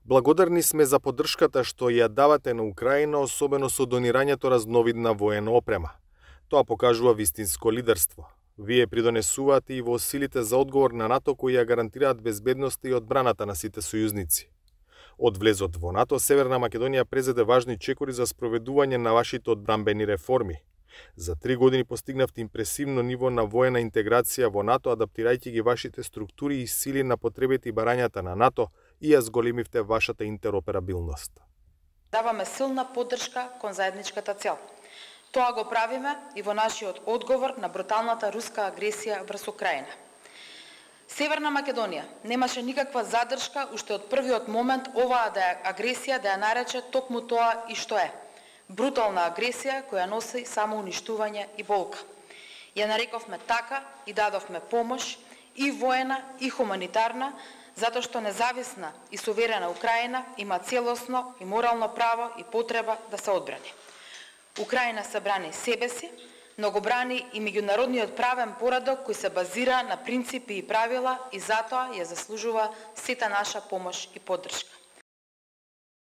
Благодарни сме за поддршката што ја давате на Украина, особено со донирањето разновидна воена опрема. Тоа покажува вистинско лидерство. Вие придонесувате и во силите за одговор на НАТО кои ја гарантираат безбедноста и одбраната на сите сојузници. Од влезот во НАТО, Северна Македонија презеде важни чекори за спроведување на вашите одбранбени реформи. За 3 години постигнавте импресивно ниво на воена интеграција во НАТО, адаптирајќи ги вашите структури и сили на потребите и барањата на НАТО и ја зголемивте вашата интероперабилност. Даваме силна поддршка кон заедничката цел. Тоа го правиме и во нашиот одговор на бруталната руска агресија врз Украина. Северна Македонија немаше никаква задршка уште од првиот момент оваа агресија да ја нарече токму тоа и што е. Брутална агресија која носи само уништување и болка. Ја нарековме така и дадовме помош и воена и хуманитарна, затоа што независна и суверена Украина има целосно и морално право и потреба да се одбрани. Украина се брани себе си, но го брани и меѓународниот правен поредок кој се базира на принципи и правила и затоа ја заслужува сета наша помош и поддршка.